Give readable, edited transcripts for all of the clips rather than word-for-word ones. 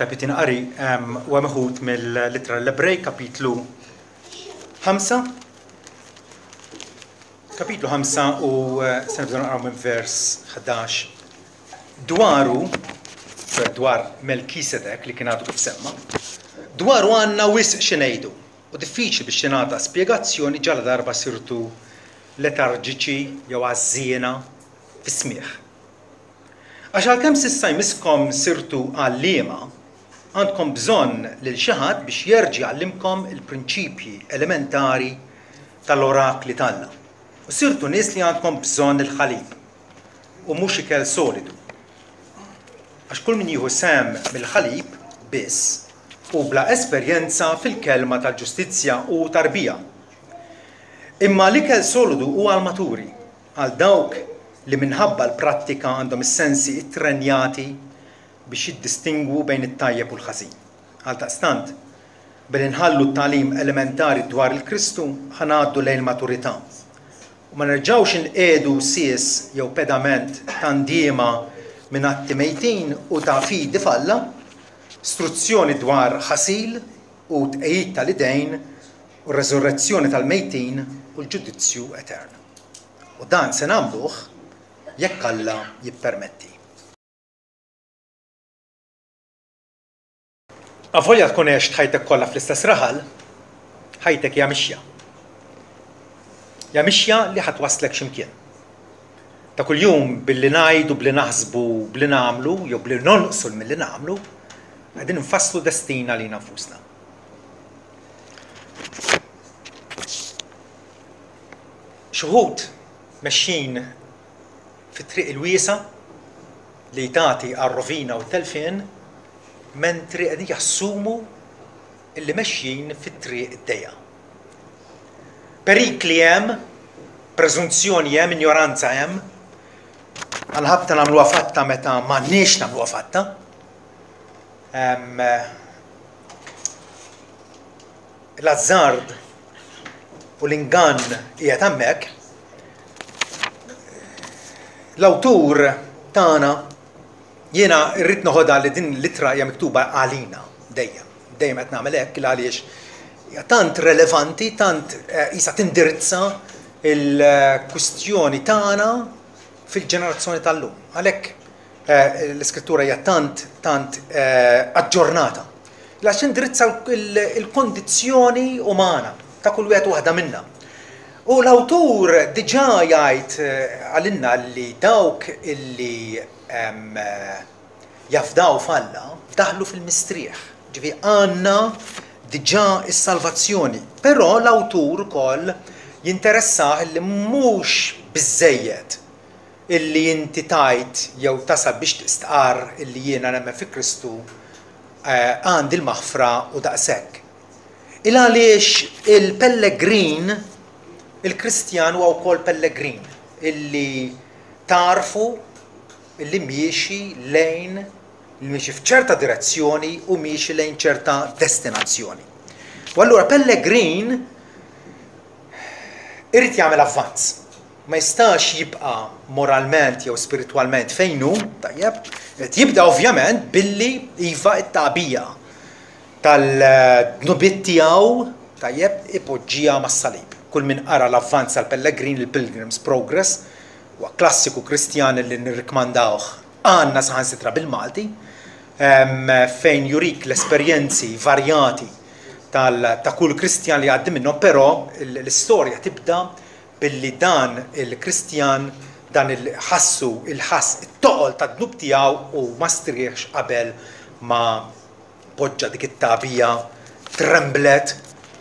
Ta' Pitin Qari huwa meħud mill-Ittra l-Ebrej kapitlu 5 kapitlu 5 u eh, se nibdew naqraw minn vers 11. Dwaru, cioè dwar Melkisedek li kien għadu kif semma, dwaru għandna wisq xi ngħidu u diffiċli biex tingħata spjegazzjoni ġala darba sirtu letarġiċi jew għażżiena fis-smigħ. Għax għalkemm s'issa jmisskom sirtu għalliema, għandkom bżonn lil xi ħadd biex jerġa' jgħallimkom il-prinċipji elementari tal-orakli t'Alla. U sirtu nies li għandkom bżonn il-ħalib, u mhux ikel solidu. Għax kull min jieħu sehem mill-ħalib biss hu bla esperjenza fil-kelma tal-ġustizzja u tarbija. Imma l-ikel solidu hu għall-maturi, Għal dawk li minħabba l-prattika għandhom is-sensi ttrenjati biex jiddistingwu bejn it-tajjeb u l-ħażin. Għaldaqstant, billi nħallu t-tagħlim elementari dwar il-Kristu, ħa ngħaddu lejn il-maturità u ma nerġgħux inqiegħdu sies jew pedament ta' ndiema minn atti mejtin u ta' fidi f'Alla, struzzjoni dwar ħasil u tqegħid tal-idejn u r-reżurrezzjoni tal-mejtin u l-ġudizzju etern. U dan se nagħmluh jekk Alla jippermetti. Avolja tkun għext ħajtek kollha fl-istess raħal, ħajtek hija mixja. Hija mixja li ħa twasslek xi mkien. Ta' kuljum billi ngħidu, billi naħsbu, billi nagħmlu jew billi nonqsu milli nagħmlu, qegħdin infasslu destin għalina nfusna. Xi wħud mexjin fit-triq il-wiesgħa li tagħti għar-rovina u t-telfien, mentri qegħdin jassumu li mexjin fit-triq id-dejqa. Perikli hemm, preżunzjoni hemm, injoranza hemm, għal ħabta nagħmluha fatta meta m'għandniex nagħmluha fatta. L-azzard u l-ingann qiegħed hemmhekk, l-awtur tagħna jiena rrid noħodha li din l-ittra hija miktuba għalina dejjem. Dejjem qed nagħmel hekk għaliex hija tant relevanti, tant qisha tindirizza l-kwistjoni tagħna fil-ġenerazzjoni tal-lum. Għalhekk l-iskrittura hija tant tant aġġornata. Għax tindirizza l-kondizzjoni umana ta' kull wieħed u waħda minna. U l-awtur diġà jgħid għalinna li dawk illi jafdaw f'Alla daħlu fil-mistrieħ. Ġifieri għandna diġà s-salvazzjoni. Però l-awtur ukoll jinteressah li mhux biżżejjed illi inti tgħid jew tasal biex tistqarr illi jiena nemmen fi Kristu għandi l-maħfra u daqshekk. Il għaliex il-pellegrin, il-Kristjan huwa wkoll pellegrin illi tagħrfu illi miexi lejn li miexi f'ċerta direzzjoni u miexi lejn ċerta destinazzjoni. U allura pellegrin irid jagħmel avvanz. Ma jistax jibqa' moralment jew spiritwalment fejn hu, tajjeb, irid jibda ovvjament billi iva t-tagħbija tal-dnubiet tiegħu, tajjeb, ipoġġiha mas-salib. Kull min qara l-Avvanz tal-Pellegrin, il-Pilgrim's Progress, huwa klassiku Kristjan li nirrikmandawh għandna saħansitra bil-Malti, fejn jurik l-esperjenzi varjati ta' kull Kristjan li jgħaddi minnhom, però l-istorja tibda billi dan il-Kristjan dan il ħassu il-ħass it-toqol tad-dnub tiegħu u ma strieħx qabel ma poġġa dik it-tagħbija tremblet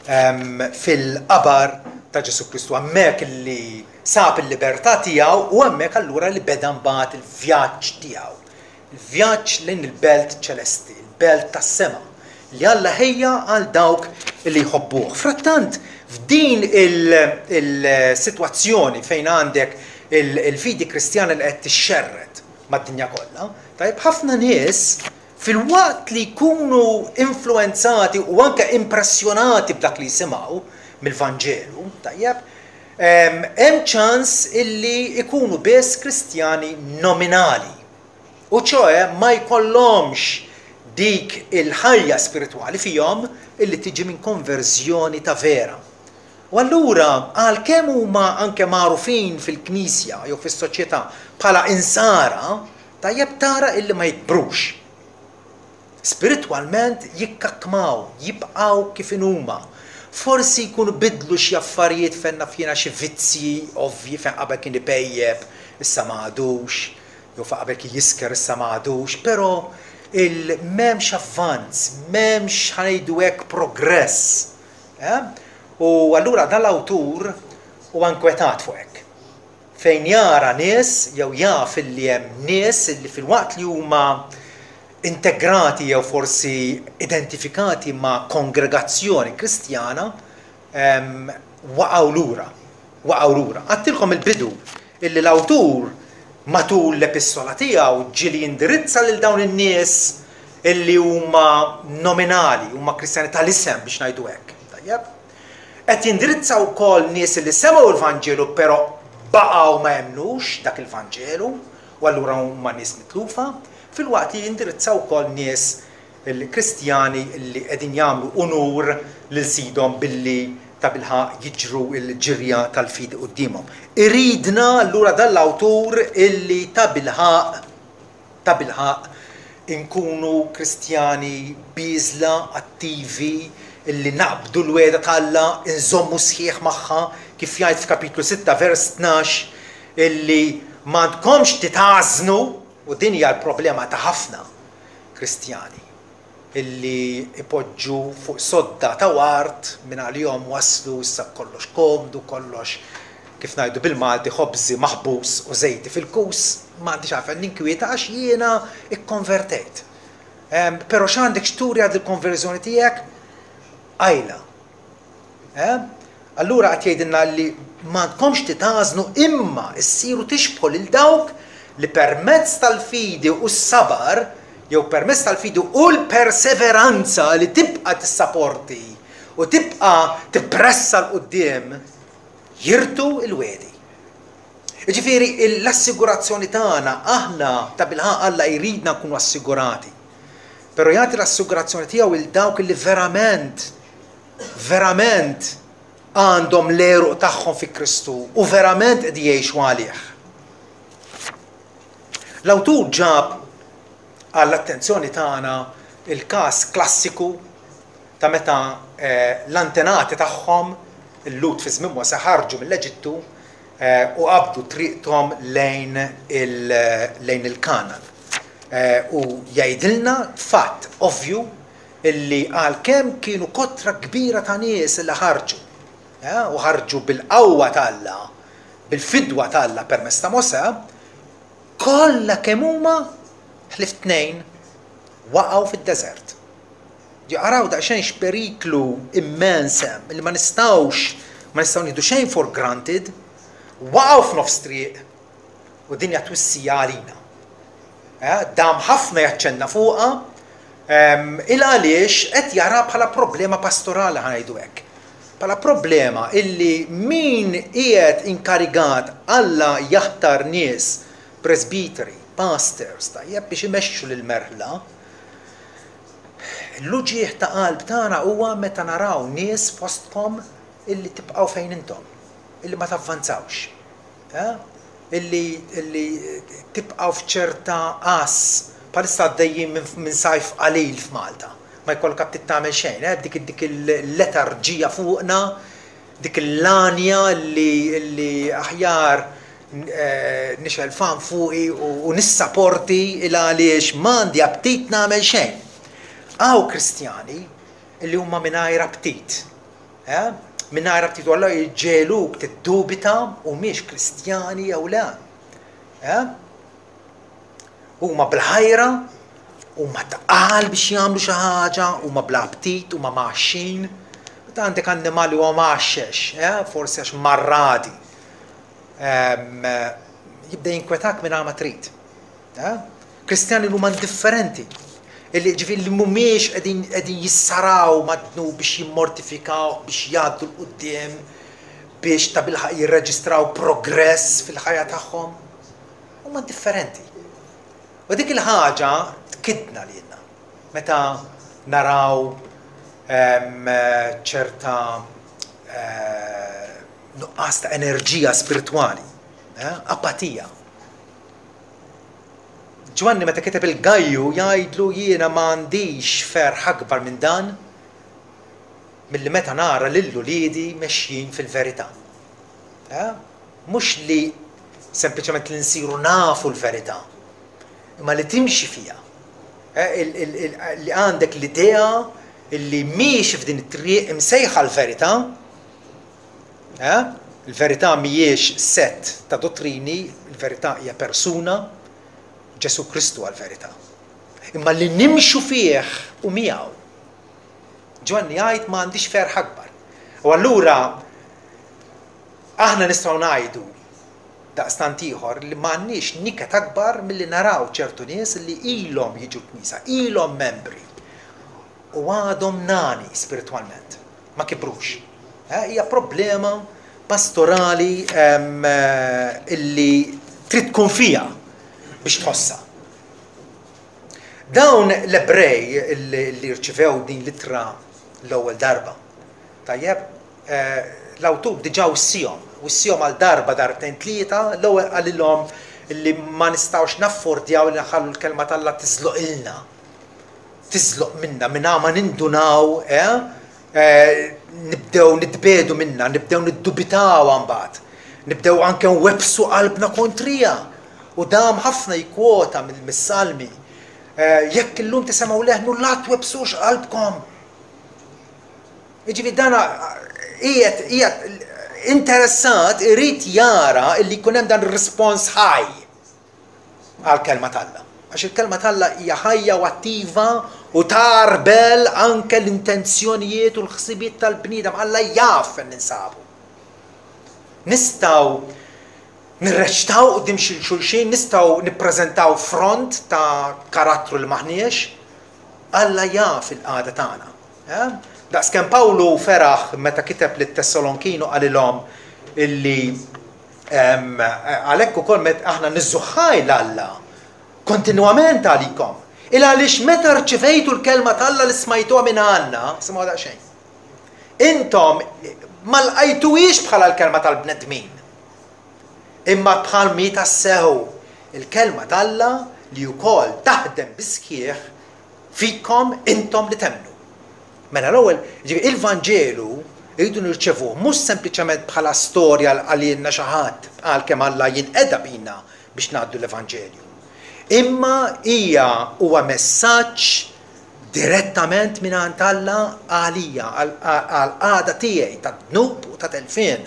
fil-qabar ta' Ġesù Kristu. Hemmhekk li sab il-libertà tiegħu u hemmhekk allura li beda mbagħad il-vjaġġ tiegħu. Il-vjaġġ lejn il-belt ċelesti, il-belt tas-sema, li Alla ħejja għal dawk li jħobbuh. Frattant, f'din il-sitwazzjoni fejn għandek il-fidi Kristjana li qed tixxerred mad-dinja kollha, tajjeb, ħafna nies filwaqt li jkunu influwenzati u anke impressjonati b'dak li jisimgħu mill-Vanġelu, tajjeb, hemm ċans illi jkunu biss Kristjani nominali. U ċoe ma jkollhomx dik il-ħajja spiritwali fihom illi tiġi minn konverżjoni ta' vera. U allura għalkemm huma anke magħrufin fil-Knisja jew fis-soċjetà bħala Insara, tajjeb tara illi ma jikbrux. Spiritwalment jikkakkmaw, jibqgħu kif inhuma. Forsi jkunu biddlu xi affarijiet fejn naf jiena xi vizzji ovvji fejn qabel kien ipejjep, issa ma għadux, jew fejn qabel kien jisker issa ma għadux, però il m'hemmx avvanz, m'hemmx ħa ngħidu hekk progress. Eh? U allura dan l-awtur huwa inkwetat fuq hekk. Fejn jara nies jew jaf illi hemm nies illi filwaqt li huma integrati jew forsi identifikati ma' kongregazzjoni Kristjana waqgħu lura. Waqgħu lura. Għadtilkom il-bidu illi l-awtur matul l-epistola tiegħu ġieli jindirizza lil dawn in-nies illi huma nominali, huma Kristjani tal-isem biex ngħidu hekk. Tajjeb? Qed jindirizza wkoll nies li semgħu l-Vanġelu però baqgħu ma jemmnux dak il-Vanġelu u allura huma nies mitlufa, filwaqt li jindirizza wkoll nies il-Kristjani li qegħdin jagħmlu unur lil Sidhom billi tabilħaqq jiġru l-ġirja tal-fidi quddiemhom. Iridna allura dan l-awtur illi tabilħaqq Tabilħaqq, inkunu Kristjani bieżla, attivi, illi naqbdu l-wegħda ta' Alla, inżommu sħiħ magħha, kif jgħid f'kapitlu 6 vers 12, illi m'għandkomx titgħażżnu, u din hija l-problema ta' ħafna Kristjani. illi ipoġġu fuq sodda ta' ward minn għalihom waslu issa kollox komdu, kollox kif ngħidu bil-Malti ħobżi maħbus u żejti fil-kus, m'għandix għalfejn ninkwieta għax jiena ikkonvertejt. Però x'għandek x'turi għad il-konverżjoni tiegħek? Qajla. Allura qed jgħidilna li m'għandkomx titgħażnu imma ssiru tixbħu lil dawk li permezz tal-fidi u s-sabar jew permezz tal-fidi u l-perseveranza li tibqa' tissaporti u tibqa' tippressa 'l quddiem jirtu l-wegħdi. Jiġifieri l-assigurazzjoni tagħna aħna tabilħaqq Alla jridna nkunu assigurati. Però jagħti l-assigurazzjoni tiegħu lil dawk li verament verament għandhom l-għeruq tagħhom fi Kristu u verament qed jgħixu għalih. L-awtur ġab għall-attenzjoni tagħna il-każ klassiku ta' meta eh, l-antenati tagħhom il-Lut fi żmien Mosè ħarġu mill-Eġittu eh, u qabdu triqthom lejn il-Kanan. Eh, u jgħidilna fatt ovvju illi għalkemm kienu kotra kbira ta' nies li ħarġu, u ħarġu bil-qawwa t'Alla, bil-fidwa t'Alla permezz ta' Mosè, kollha kemm huma ħlief tnejn waqgħu fid-deżert. Araw daqsxejn x'periklu immens hemm li ma nistgħux ma nistgħu nieħdu xejn for granted, waqgħu f'nofs triq u din hija twissija għalina. Eh, dam ħafna jaċċenna fuqha, ehm, il għaliex qed jara bħala problema pastorali ħa ngħidu hekk. Bħala problema illi min qiegħed inkarigat Alla jaħtar nies presbiteri, pastors, tajjeb biex imexxu lil merħla. L-uġigħ ta' qalb tagħna huwa meta naraw nies fostkom illi tibqgħu fejn intom, illi ma tavvanzawx. Illi illi tibqgħu f'ċerta għażż. Bħalissa għaddejjin minn minn sajf qalil f'Malta. Ma jkollok aptit tagħmel xejn, eh, dik dik il-letarġija fuqna, dik l-għanja li li aħjar nixgħel fan fuqi u nissaporti il għaliex m'għandi aptit nagħmel xejn. Hawn Kristjani li huma mingħajr aptit. Eh? Mingħajr aptit u Alla jġegħluk tiddubita humiex Kristjani jew le. Eh? Huma bl-ħajra, huma tqal biex jagħmlu xi ħaġa, huma bla aptit, huma mgħaxxin. Meta għandek annimali huwa mgħaxxex, eh? forsi għax marradi. Ehm, jibda jinkwetak minn ma trid. Kristjani li huma indifferenti, illi ġifieri li mhumiex qegħdin qegħdin jissaraw mad-dnub biex jimmortifikawh, biex jgħaddu 'l quddiem, biex tabilħaqq jirreġistraw progress fil-ħajja tagħhom. Huma indifferenti. U dik il-ħaġa tkiddna lilna. Meta naraw ċerta nuqqas ta' enerġija spiritwali, apatija. Ġwanni meta kiteb il-Gajju jgħidlu jiena m'għandix ferħ akbar minn dan milli meta nara lil uliedi mexjin fil-verità. Mhux li sempliċement li nsiru nafu l-verità, imma li timxi fiha. Li għandek l-idea li miexi f'din it-triq imsejħa l-verità, il-verità mhijiex sett ta' dottrini, il-verità hija persuna, Ġesù Kristu għall-verità. Imma li nimxu fih u miegħu. Ġwanni jgħid ma għandix ferħ akbar. U allura aħna nistgħu ngħidu daqstant ieħor li m'għandniex niket akbar milli naraw ċertu nies li ilhom jiġu l-knisja, ilhom membri u għadhom nani spiritwalment, ma kibrux. Hija problema pastorali illi trid tkun fiha biex tħossha. Dawn l-Ebrej li rċivew din l-ittra l-ewwel darba, tajjeb, L-awtur diġà wissihom, wissihom għal darba, darbtejn, tlieta, l-ewwel qalilhom li ma nistgħux naffordjaw li nħallu l-Kelma t'Alla tiżloqilna, tiżloq minna mingħajr ma nindunaw, eh, nibdew nitbiegħdu minnha, nibdew niddubitawha mbagħad, nibdew anke nwebbsu qalbna kontriha. U dam ħafna jikkwota mis-Salmi, Jekk illum tisemgħu leħnu la twebbsux qalbkom. Jiġifieri dan qiegħed qiegħed interessat irid jara li jkun hemm dan ir-rispons ħaj għall-kelma t'Alla. Għax il-kelma t'Alla hija ħajja u attiva u tarbel anke l-intenzjonijiet u l-ħsibiet tal-bniedem. Alla jaf fejn ninsabu. Nistgħu nirreċtaw quddiem xi xulxin, nistgħu nippreżentaw front ta' karattru li m'aħniex. Alla jaf il-qagħda tagħna. Daqskemm Pawlu feraħ meta kiteb lit-Tessalonkin u qalilhom illi għalhekk ukoll met aħna niżżu ħaj 'l Alla kontinwament għalikom. Il għaliex meta rċivejtu l-kelma t'Alla li smajtuha minn għandna, simgħu daqsxejn. Intom ma lqajtuhiex bħala l-kelma tal-bnedmin, imma bħal mi tassew il-kelma t'Alla li wkoll taħdem bis-sħiħ fikom intom li temmnu. Mela l-ewwel, jiġifieri il-Vanġelu rridu nirċevuh mhux sempliċement bħala storja li qalilna xi ħadd għalkemm Alla jinqeda bina biex ngħaddu l-Evanġelju. Imma hija huwa messaġġ direttament mingħand Alla għalija, għall-qagħda tiegħi ta' dnub u ta' telfien.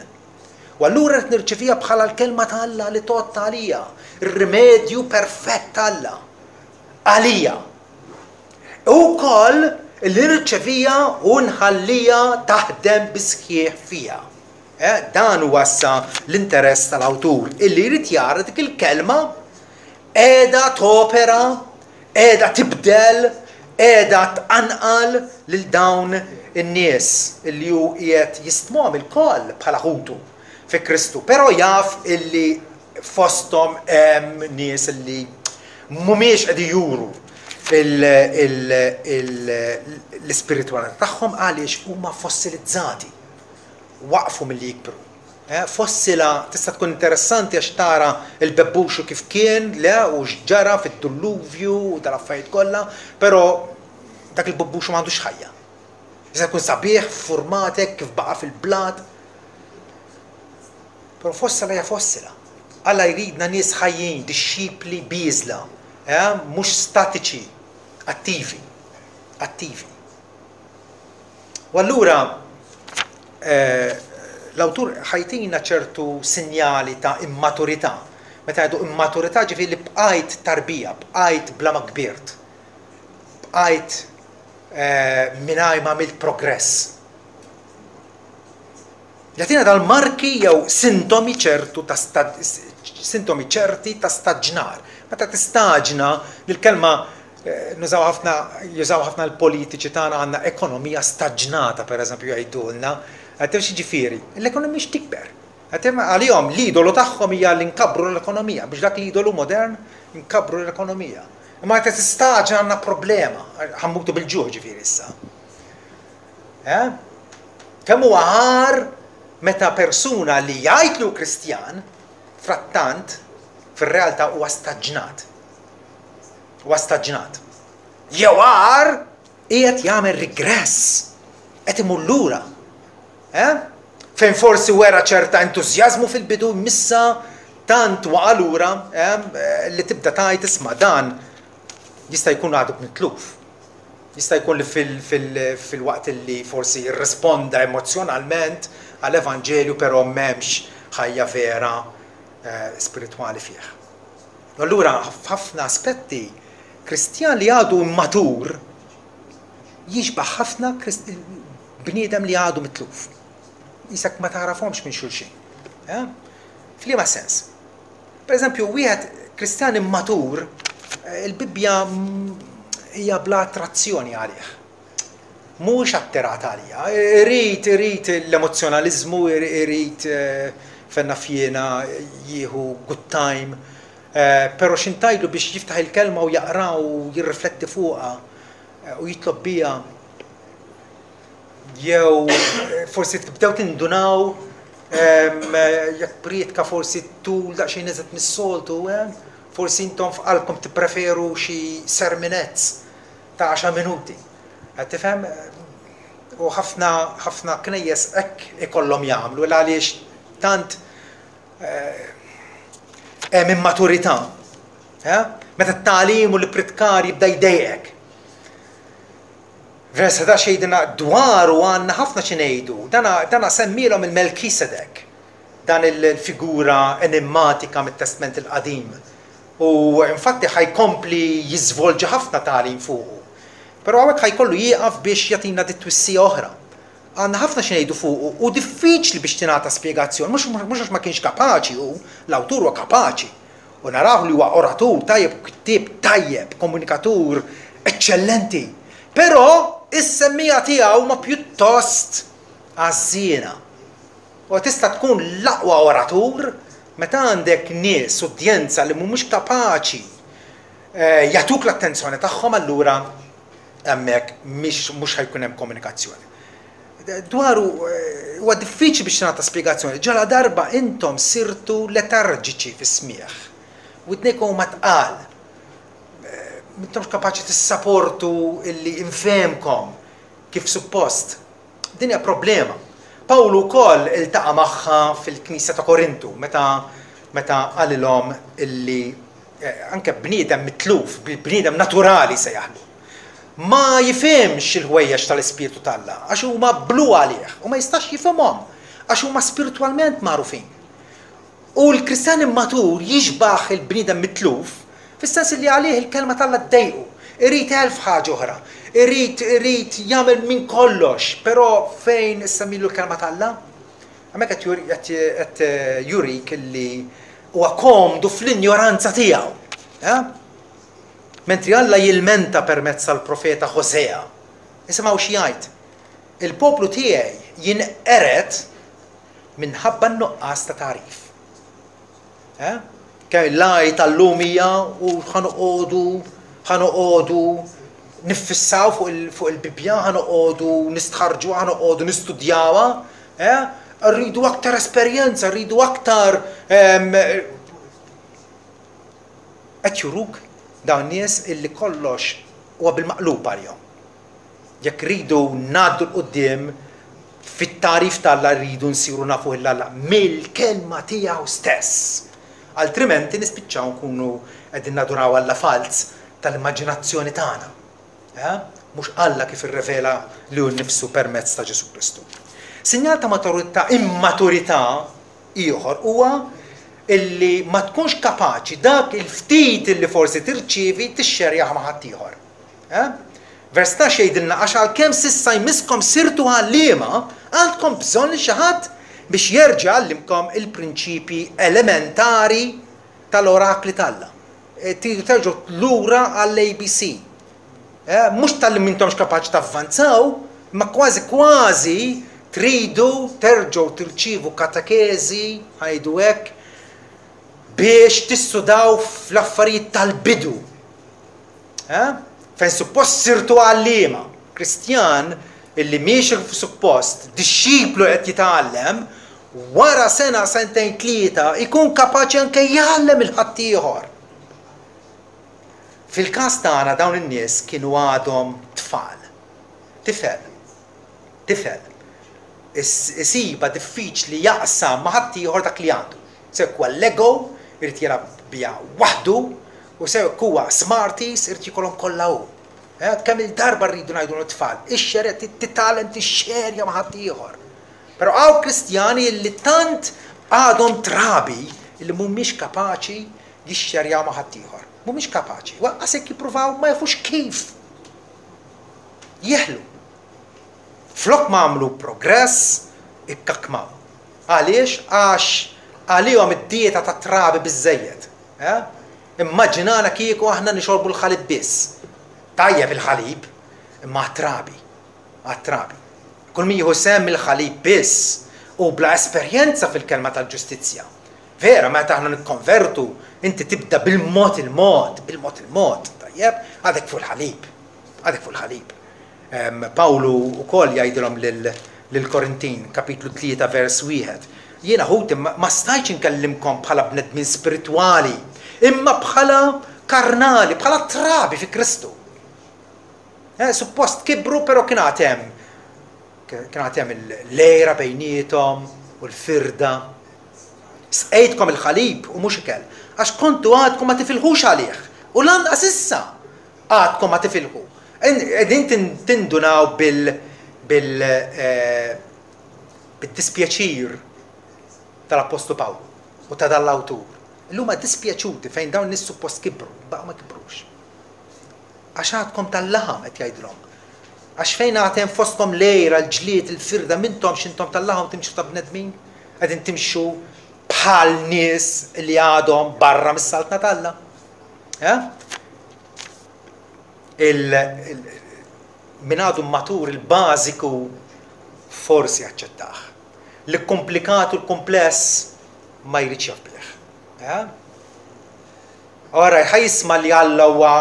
U allura rrid nirċeviha bħala l-kelma ta' Alla li tgħodd għalija, ir-rimedju perfett ta' Alla. Għalija. U wkoll li nirċevija u nħallija taħdem bis-sħiħ fija. Eh, dan huwa issa l-interess tal-awtur illi jrid jara dik il-kelma qiegħda topera, qiegħda tibdel, qiegħda tqanqal lil dawn in-nies illi hu qiegħed jistmhom ilkoll bħala ħutu fi Kristu, però jaf illi fosthom hemm nies li mhumiex qegħdin juru l-ispiritwalità tagħhom għaliex huma fossilizzati, waqfu milli jikbru. Eh, fossila tista' tkun interessanti għax tara l-bebbuxu kif kien, le, u x'ġara fid-dulluvju u dal-affarijiet kollha, però dak il-bebbuxu m'għandux ħajja. Jista' jkun sabiħ, ffurmat hekk kif baqa' fil-blat, Però fossila hija fossila. Alla jridna nies ħajjin, dixxipli bieżla, eh, mhux statiċi, attivi. Attivi. U allura eh, l-awtur ħajtina ċertu sinjali ta' immaturità. Meta jgħidu immaturità ġifieri li bqajt tarbija, bqajt bla ma kbirt. Bqajt eh, mingħajr ma għamilt progress. Jagħtina dal-marki jew sintomi ċertu ta' sintomi ċerti ta' staġnar. Meta tistaġna, dil-kelma eh, nużaw ħafna jużaw ħafna l-politiċi tagħna għandna ekonomija staġnata pereżempju jgħidulna. Għad ġifieri, l-ekonomija mhix tikber. Għalihom l-idolu tagħhom hija li nkabbru l-ekonomija biex dak l-idolu modern nkabbru l-ekonomija. Imma meta tistaġna għandna problema, ħa mmutu bil-ġuħ ġifieri issa. Eh? Kemm huwa għar meta persuna li jgħid li hu Kristjan, frattant fir-realtà huwa staġnat. Huwa staġnat. Jew għar qiegħed jagħmel regress, qed imur lura. Eh? Fejn forsi wera ċerta entużjażmu fil-bidu missa tant waqa' lura eh, li tibda tgħid isma' dan jista' jkun għadu mitluf. Jista' jkun li fil-waqt li forsi rrisponda emozzjonalment għall-Evanġelju però m'hemmx ħajja vera eh, spiritwali fih. Allura f'ħafna aspetti Kristjan li għadu immatur jixbaħ ħafna bniedem li għadu mitluf. Qisek ma tagħrafhomx minn xulxin. Eh? F'liema sens? Per eżempju, wieħed Kristjan immatur, eh, il-Bibbja hija bla attrazzjoni għalih. Mhux attirat għalija. Irid, irid l-emozzjonaliżmu, irid eh, fenna fjena jieħu good time, eh, però x'intajlu biex jiftaħ il-kelma u jaqra u jirrifletti fuqha u jitlob biha jew forsi tibdew tindunaw jekk prietka forsi tul daqsxejn iżgħet mis-soltu, forsi intom f'qalbkom tippreferu xi serminezz ta' għaxar minuti. Qed tifhem? U ħafna ħafna knejjes hekk ikollhom jagħmlu għaliex tant hemm immaturità. Meta t-tagħlim u l-ippritkar jibda jdejqek. Vers 11 jgħidilna dwaru għandna ħafna xi ngħidu. Dana, dana semmielhom il-Melkisedek, dan il-figura enimmatika mit-Testment il-Qadim. U infatti ħa jkompli jiżvolġi ħafna tagħlim fuqu. Però hawnhekk ħa jkollu jieqaf biex jagħtina dit-twissija oħra. Għandna ħafna xi ngħidu fuqu u diffiċli biex tingħata spjegazzjoni, mhux mhux għax ma kienx kapaċi hu, l-awtur huwa kapaċi. U narawh li huwa oratur tajjeb u kittieb tajjeb, komunikatur eċċellenti. Però is-semmiegħa tiegħu huma pjuttost għażżiena. U tista' tkun l-aqwa oratur meta għandek nies, udjenza li mhumiex kapaċi eh, jagħtuk l-attenzjoni tagħhom allura hemmhekk mhux ħajkun hemm komunikazzjoni. Dwaru huwa diffiċli biex tingħata spjegazzjoni ġaladarba intom sirtu letarġiċi fis-smigħ. Widnejkom huma tqal. M'intomx kapaċi tissaportu illi infehmkom kif suppost. Din hija problema. Pawlu wkoll iltaqa' magħha fil-knisja ta' Korintu meta meta qalilhom illi anke bniedem mitluf, bniedem naturali sejjaħlu. Ma jifhimx il-ħwejjeġ tal-Ispirtu t'Alla, għax huma blu għalih, u ma jistax jifhimhom, għax huma spiritwalment magħrufin. U l-Kristjan immatur jixbah il-bniedem mitluf, fis-sens li għalih il-Kelma t'Alla ddejqu. Irid elf ħaġa oħra. Irid, irid jagħmel minn kollox, però fejn issemmilu l-Kelma t'Alla? Hemmhekk qed juri, qed, qed jurik li huwa komdu fl-injoranza tiegħu. Eh? Mentri Alla jilmenta permezz tal-profeta Hosea. Isimgħu xi jgħid, Il-poplu tiegħi jinqered minħabba n-nuqqas ta' tagħrif. Eh? Kemm l-għaj tal-lum hija u ħa noqogħdu ħa noqogħdu niffissaw fuq il-Bibbja, ħa noqogħdu nistħarġuha, ħa noqogħdu nistudjawha, eh? Rridu aktar esperjenza, rridu aktar ehm, Qed juruk dawn nies illi kollox huwa bil-maqlub għalihom. Jekk rridu ngħaddu 'l quddiem fit-tagħrif t'Alla rridu nsiru nafuh 'l Alla mill-Kelma tiegħu stess. Altrimenti nispiċċaw nkunu qegħdin naduraw Alla falz tal-immaġinazzjoni tagħna. Eh? Mhux Alla kif irrevela lilu nnifsu permezz ta' Ġesù Kristu. Sinjal ta' maturità, immaturità ieħor huwa illi ma tkunx kapaċi dak il-ftit illi forsi tirċievi tixxerjah ma' ħaddieħor. Eh? Vers 12 jgħidilna għax għalkemm s'issa jmisskom sirtu għalliema, għandkom bżonn li xi ħadd biex jerġa' jgħallimkom il-prinċipji elementari tal-orakli t'Alla. E, tridu terġgħu lura għall-ABC. Eh, mhux talli m'intomx kapaċi tavvanzaw, imma kważi kważi tridu terġgħu tirċievu katekeżi, ħajdu hekk, biex tissudaw fl-affarijiet tal-bidu. Eh? Fejn suppost sirtu għalliema. Kristjan illi miexi kif suppost, dixxiplu qed jitgħallem, wara sena, sentejn, tlieta, ikun kapaċi anke jgħallem il-ħaddieħor. Fil-każ tagħna dawn in-nies kienu għadhom tfal. Tifel. Tifel. Isibha diffiċli jaqsam ma' ħaddieħor dak li għandu. Sew jekk huwa Lego, irid jilgħab biha waħdu, u sew jekk huwa Smarties, irid jikolhom kollha hu. Kemm il-darba rridu ngħidu lit-tfal, ixxerja, titgħallem tixxerja ma' ħaddieħor. Però hawn Kristjani li tant għadhom trabi li mhumiex kapaċi jixxerjaw ma' ħaddieħor. Mhumiex kapaċi. Waqqas jekk jippruvaw ma jafux kif jeħlu. Flok ma għamlu progress, ikkakmaw. Għaliex? Għax għalihom id-dieta tat-trabi biżżejjed. Eh? Immaġinana kieku aħna nixorbu l-ħalib biss. Tajjeb il-ħalib, imma għat-trabi. Għat-trabi. Kull min jieħu sehem mill-ħalib biss u bla esperjenza fil-kelma tal-ġustizzja. Vera, meta aħna nikkonvertu, inti tibda bil-mod il-mod, bil-mod il-mod, tajjeb, għadek fuq il-ħalib. Għadek fuq il-ħalib. Pawlu wkoll jgħidilhom lill-Korintin, kapitlu 3 vers 1, Jiena ħuti ma stajtx inkellimkom bħala bnedmin spiritwali, imma bħala karnali, bħala trabi fi Kristu. Eh, suppost kibru, però kien għad hemm kien għad hemm l-għira bejniethom u l-firda. Sqejtkom il-ħalib u mhux ikel, għax kontu għadkom ma tifilħux għalih, u lanqas issa Għadkom ma tifilħu. Qegħdin tindunaw bil bil eh, bid-dispjaċir tal-Appostlu Pawlu u ta' dan l-awtur. Illum huma dispjaċuti fejn dawn nies suppost kibru, baqgħu ma kibrux. Għax għadkom tal-laħam qed jgħidilhom. Għax fejn għad hemm fostkom l-għira, l-ġlied, il-firda, m'intomx intom tal-laħam timxu ta' bnedmin? Qegħdin timxu bħal nies li għadhom barra mis-saltna t'Alla. Eh? Il, il, min għadu matur il-bażiku forsi jaċċettah. L-komplikat u l-kompless ma jridx jaf bih. Eh? Ora, ħa jisma' li Alla huwa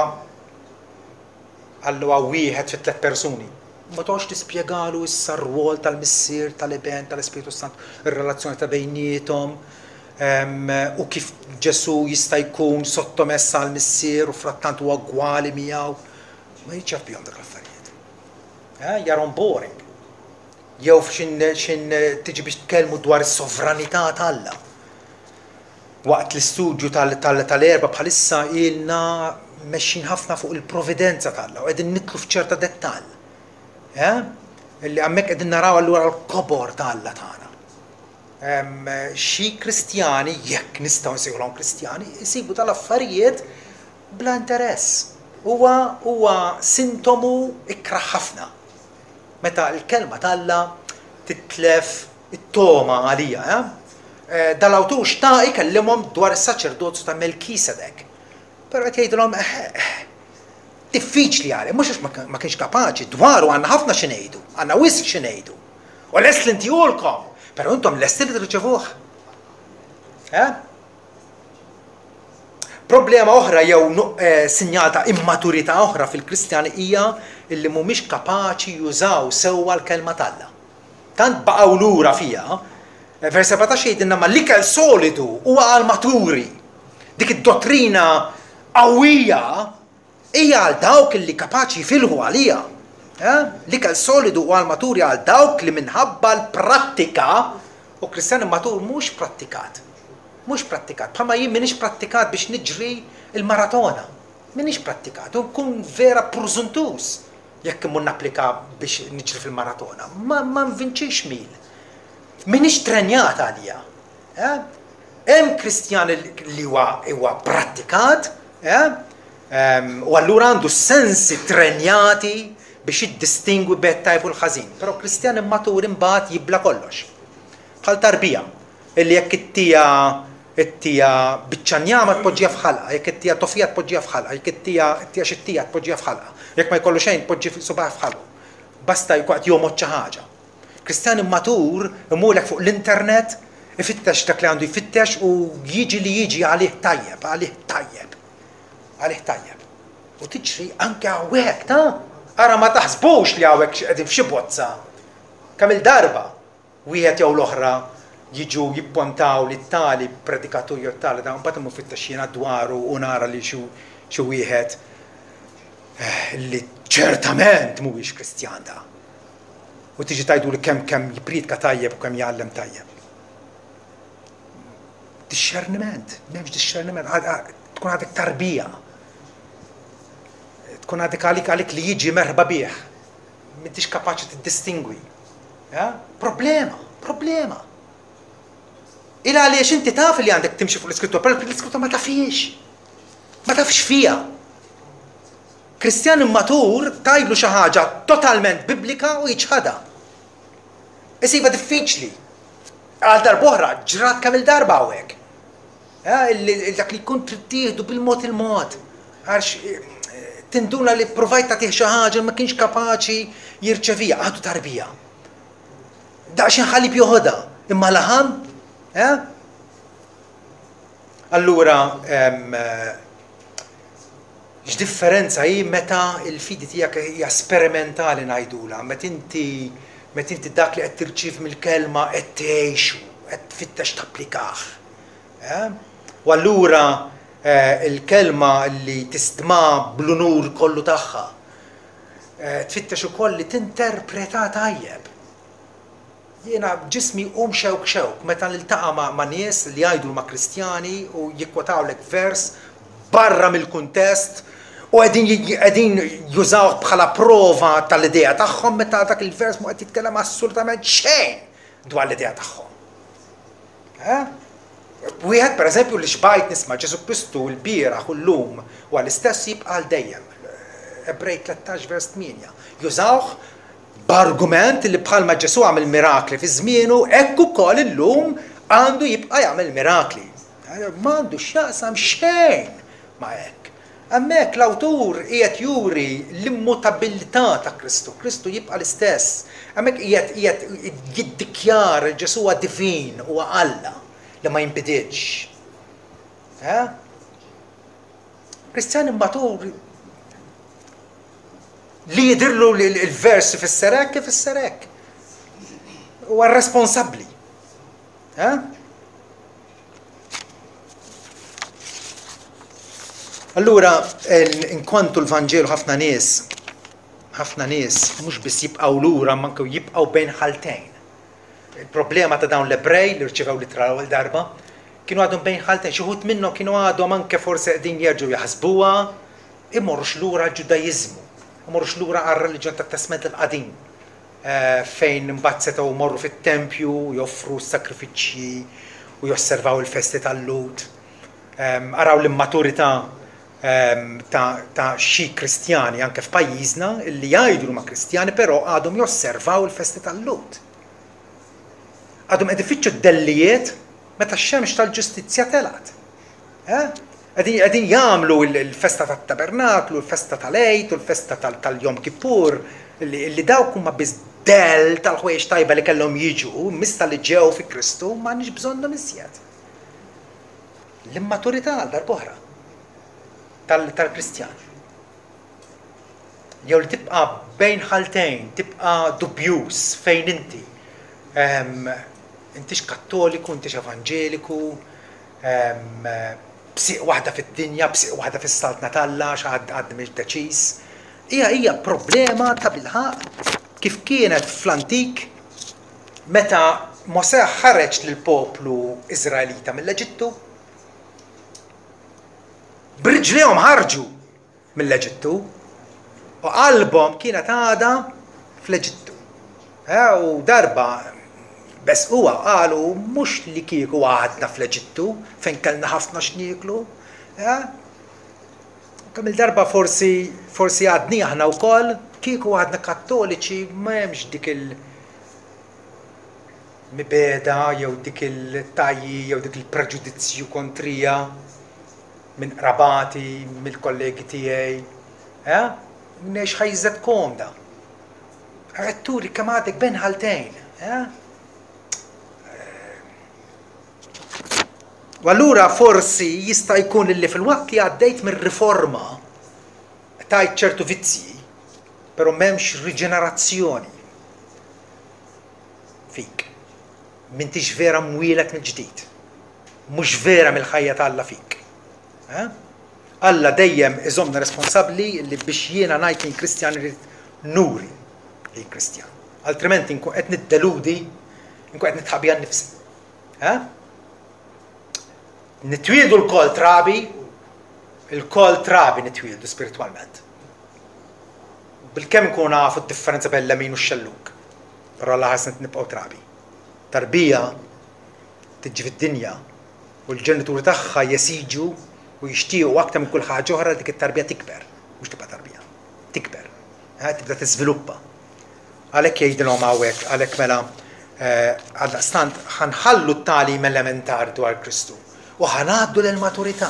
Alla huwa wieħed fi tliet persuni. Ma toqgħodx tispjegalu issa r-rwol tal-Missier, tal-Iben, tal-Ispirtu Santu, ir-relazzjoni ta' bejniethom, u kif Ġesù jista' jkun sottomess għall-Missier u frattant huwa ugwali miegħu. Ma jridx jaf bihom dak l-affarijiet. Eh, jarhom boring. Jew f'xin xin tiġi biex tkellmu dwar is-sovranità t'Alla. Waqt l-istudju tal-Erbgħa bħalissa ilna mexjin ħafna fuq il-providenza t'Alla u qegħdin nidħlu f'ċerta dettall. Eh? Illi hemmhekk qegħdin naraw allura l-kobor ta' Alla tagħna. Xi Kristjani, jekk nistgħu nsejħulhom Kristjani, isibu tal-affarijiet bla interess. Huwa huwa sintomu ikrah ħafna. Meta l-kelma t'Alla titlef it-togħma għalija, eh? eh Dal-awtur xtaq ikellimhom dwar is-saċerdozju ta' Melkisedek. Però qed jgħidilhom eh, eh, diffiċli għalih, mhux għax ma kienx kapaċi, dwaru għandna ħafna xi ngħidu, għandna wisq xi ngħidu. U lest li ntihulkom, però intom lesti li tirċevuh. Eh? Problema oħra jew eh, sinjal ta' immaturità oħra fil-Kristjani hija illi mhumiex kapaċi jużaw sewwa l-kelma t'Alla. Tant baqgħu lura fiha, vers 14 jgħidilna ma l-ikel solidu huwa għal maturi. Dik id-dottrina qawwija hija għal dawk li kapaċi jifilħu għaliha. Eh? L-ikel solidu huwa għal maturi għal dawk li minħabba l-prattika u Kristjan immatur mhux prattikat. Mhux prattikat. Bħalma jien m'iniex prattikat biex niġri il-maratona. M'iniex prattikat. U nkun vera prużuntuż Jekk immur napplika biex niġri fil-maratona, ma, ma nvinċix mil. M'iniex trenjat għalija. Eh? Hemm Kristjan li huwa huwa prattikat, eh? u allura għandu sensi trenjati biex jiddistingwi bejn tajb u l-ħażin. Però Kristjan immatur imbagħad jibla kollox. Bħal tarbija. Illi jekk ittiha ittiha biċċa njama tpoġġiha f'ħalqha, jekk ittiha tofija tpoġġiha f'ħalqha, jekk ittiha ittiha xi tija tpoġġiha f'ħalqha, jekk ma jkollu xejn tpoġġi subgħajh f'ħalqu. Basta jkun qed jomgħod xi ħaġa. Kristjan immatur imurlek fuq l-internet, ifittex dak li għandu jfittex u jiġi li jiġi għalih tajjeb, għalih tajjeb. Għalih tajjeb. U tiġri anke hawnhekk, ta? Ara ma taħsbux li hawnhekk qegħdin f'xi bozza. Kemm-il darba wieħed jew l-oħra jiġu jippontaw li tali predikatur jew tali da, mbagħad immur fittex jiena dwaru u nara li xi wieħed eh, li ċertament mhuwiex Kristjan da. U tiġi tgħidu li kemm kemm jippriedka tajjeb u kemm jgħallem tajjeb. Dixxerniment, m'hemmx dixxerniment, tkun għadek tarbija. Tkun għadek għalik għalik li jiġi merħba bih. M'intix kapaċi tiddistingwi. Problema, problema. Il għaliex inti taf li għandek timxi fuq l-iskrittura, però l-iskrittura ma tafiex. Ma tafx fija. Kristjan immatur tgħidlu xi ħaġa totalment biblika u jiċħadha. Isibha diffiċli. Għal darb'oħra, ġrat kemm il-darba hawnhekk. Eh, dak li jkun trid tieħdu bil-mod il-mod. Għax eh, tinduna li provajt tagħtih xi ħaġa ma kienx kapaċi jirċevija, għadu tarbija. Daqsxejn ħalib joħodha, imma laħam, eh? Allura, X'differenza hi meta l-fidi tiegħek hija sperimentali ngħidulha, meta inti meta inti dak li qed tirċievi mill-kelma qed tgħixu, qed tfittex tapplikah. Eh? U allura eh, il-kelma li tistma bl-unur kollu tagħha, eh, tfittex ukoll li tinterpreta tajjeb. Jiena ġismi jqum xewk xewk meta niltaqa' ma' nies li jgħidu huma Kristjani u jikkwotawlek vers barra mill-kuntest u qegħdin qegħdin jużawh bħala prova tal-idea tagħhom meta dak il-vers mhu qed jitkellem assolutament xejn dwar l-idea tagħhom. Eh? Wieħed pereżempju li xbajt nisma' Ġesù Kristu l-bieraħ u llum huwa l-istess jibqa' għal dejjem. Ebrej 13 vers 8. Jużawh B'argument li bħalma Ġesù għamel mirakli fi żmienu, hekk ukoll illum għandu jibqa' jagħmel mirakli. M'għandu x'jaqsam xejn ma' hekk. Hemmhekk l-awtur qiegħed juri l-immutabilità ta' Kristu. Kristu jibqa' l-istess. Hemmhekk qiegħed qiegħed jiddikjara li Ġesù huwa divin, huwa Alla li ma jinbidilx. Eh? Kristjan immatur Li jidhirlu li l-vers ifisser hekk, ifisser hekk. Huwa responsabbli. Eh? Allura, inkwantu l-Vanġelu ħafna nies, ħafna nies mhux biss jibqgħu lura, ma anke jibqgħu bejn ħaltejn. Il-problema ta' dawn l-Ebrej li rċevew l-ittra l-ewwel darba, kienu għadhom bejn ħaltejn, xi wħud minnhom kienu għadhom anke forsi qegħdin jerġgħu jaħsbuha, Imorrux lura għall-Ġudaiżmu, imorrux lura għar-reliġjon tat-Testment il-Qadim, fejn imbagħad setgħu jmorru fit-tempju, joffru s-sagrifiċċji u josservaw il-festi tal-Lhud. Araw l-immaturità ta' xi Kristjani anke f'pajjiżna li jgħidu li huma Kristjani però għadhom josservaw il-festi tal-Lhud. Għadhom qed ifittxu d-dellijiet meta x-xemx tal-ġustizzja telgħet. Eh? Qegħdin jagħmlu l-festa tat-tabernaklu, l-festa tal-Għid u l-festa tal-Jom Kippur, li dawk huma biss dell tal-ħwejjeġ tajba li kellhom jiġu, missa li ġew fi Kristu m'għandniex bżonnhom iżjed. L-immaturità għal darb'oħra tal-Kristjan. Jew li tibqa' bejn ħaltejn, tibqa' dubjuż fejn inti. Intix Kattoliku, intix Evanġeliku, b'sieq waħda fid-dinja, b'sieq waħda fis-Saltna t'Alla, għax għad għadni mhix deċiż. Hija hija problema tabilħaqq kif kienet fl-antik meta Mosè ħareġ lill-poplu Iżraelita mill-Eġittu. B'riġlejhom ħarġu mill-Eġittu u qalbhom kienet għadha fl-Eġittu. Eh, u darba besquha qalu mhux li kieku għadna fl-Eġittu fejn kellna ħafna x'nieklu. Eh? Kemm il-darba forsi forsi għadni aħna wkoll kieku għadna kattoliċi ma hemmx dik il- mibegħda jew dik il-tajji jew dik il-preġudizzju kontrija minn qrabati, mill-kollegi tiegħi. Eh? Ngħix ħajja komda. Qed turi kemm għadek bejn ħaltejn. Eh? U allura forsi jista' jkun li fil-waqt li għaddejt mir-riforma. Aċċettajt ċertu vizzji, però m'hemmx riġenerazzjoni fik. M'intix vera mwieled mill-ġdid. Mhux vera mill-ħajja ta' Alla fik. Eh? Alla dejjem iżommna responsabbli li biex jiena ngħid li Kristjan irid nuri li Kristjan. Altrimenti nkun qed niddeludi, nkun qed nitħaq bija nnifsi. Eh? Nitwieldu lkoll trabi, ilkoll trabi nitwieldu spiritwalment. Bilkemm nkunu nafu d-differenza bejn l-lemin u x-xellug, però Alla ħares nibqgħu trabi. Tarbija tiġi fid-dinja u l-ġenituri tagħha jesiġu u jixtiequ aktar minn kull ħaġa oħra li dik it-tarbija tikber, mhux tibqa' tarbija, tikber, eh, tibda tiżviluppa. Għalhekk jgħidilhom hawnhekk, għalhekk mela għaldaqstant ħa nħallu t-tagħlim elementari dwar Kristu u ħa ngħaddu lill-maturità.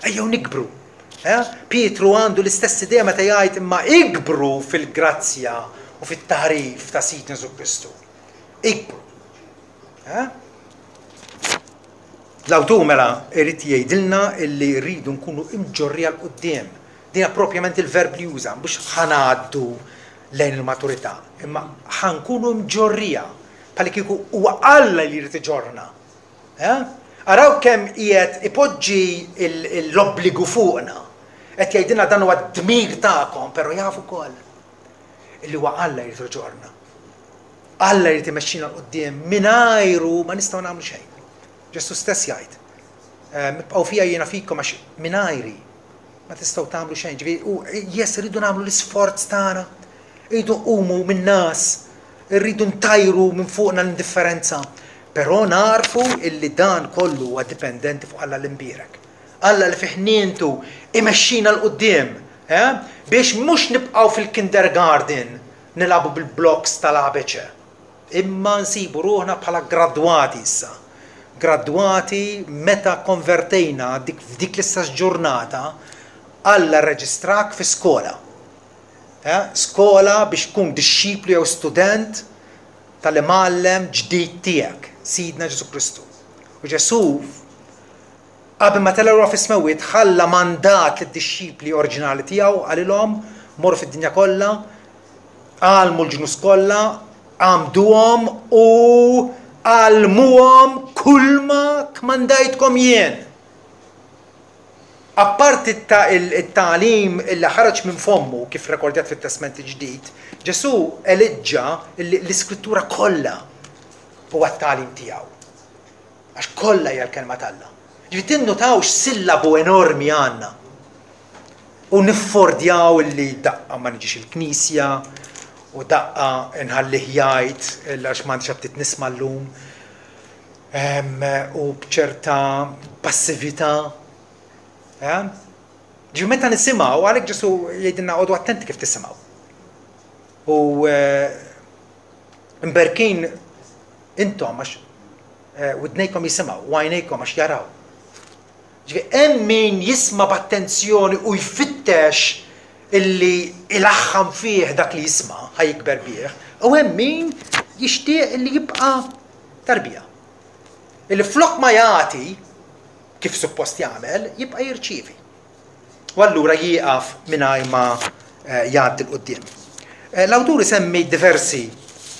Ejjew nikbru. Eh? Pietru għandu l-istess idea meta jgħid imma ikbru fil-grazzja u fit-tagħrif ta' Sidna Ġesù Kristu. Ikbru. Eh? L-awtur mela irid jgħidilna illi rridu nkunu imġorrija 'l quddiem. Din hija propjament il-verb li juża, mhux ħa ngħaddu lejn il-maturità, imma ħa nkunu mġorrija, bħallikieku huwa Alla li jrid iġorrna. Eh? Araw kemm qiegħed ipoġġi l-obbligu fuqna. Qed jgħidilna dan huwa d-dmir tagħkom, però jaf ukoll illi huwa Alla jrid iġorrna. Alla jrid imexxina 'l quddiem, mingħajru ma nistgħu nagħmlu xejn. Ġesù stess jgħid, ehm, ibqgħu fija jiena fikom għax mingħajri ma tistgħu tagħmlu xejn. Ġifieri, u yes irridu nagħmlu l-isforz tagħna. Irridu nqumu min-nas, irridu ntajru minn fuqna l-indifferenza. Però narfu illi dan kollu huwa dipendenti fuq Alla l-imbierek. Alla li fi ħnientu imexxina 'l quddiem, eh? biex mhux nibqgħu fil-kindergarten nilagħbu bil-blocks tal-ABC. Imma nsibu ruħna bħala gradwati issa. Gradwati meta kkonvertejna dik f'dik l-istess ġurnata, Alla rreġistrak fi skola. Eh? Skola biex tkun dixxiplu jew student tal-imgħallem ġdid tiegħek, Sidna Ġesù Kristu. U Ġesù Qabel ma tela' lura fis-smewwiet, ħalla mandat lid-dixxipli oriġinali tiegħu, qalilhom, Morru fid-dinja kollha, għallmu l-ġnus kollha, għammduhom u għallmuhom kulma kmandajtkom jien. Apparti t-tagħlim li ħareġ minn fommu kif rekordjat fit-Testment il-Ġdid, Ġesù eliġġa l-Iskrittura kollha huwa t-tagħlim tiegħu. Għax kollha hija l-Kelma t'Alla. Ġifieri tinnutaw x'sillabu enormi għandna. U niffordjaw illi daqqa ma niġix il-knisja u daqqa nħallih jgħid għax m'għandix aptit nisma' llum. U b'ċerta passività. Eh? Ġifieri meta nisimgħu, għalhekk Ġesu jgħidilna għodu attenti kif tisimgħu. U eh, mberkin Intom għax widnejkom jisimgħu u għajnejkom għax jaraw. Ġifieri hemm min jisma' b'attenzjoni u jfittex illi ilaħħam fih dak li jisma' ħa jikber bih, u hemm min jixtieq illi jibqa' tarbija. Illi flok ma jagħti kif suppost jagħmel, jibqa' jirċievi. U allura jieqaf mingħajr ma jgħaddi 'l quddiem. L-awtur isemmi diversi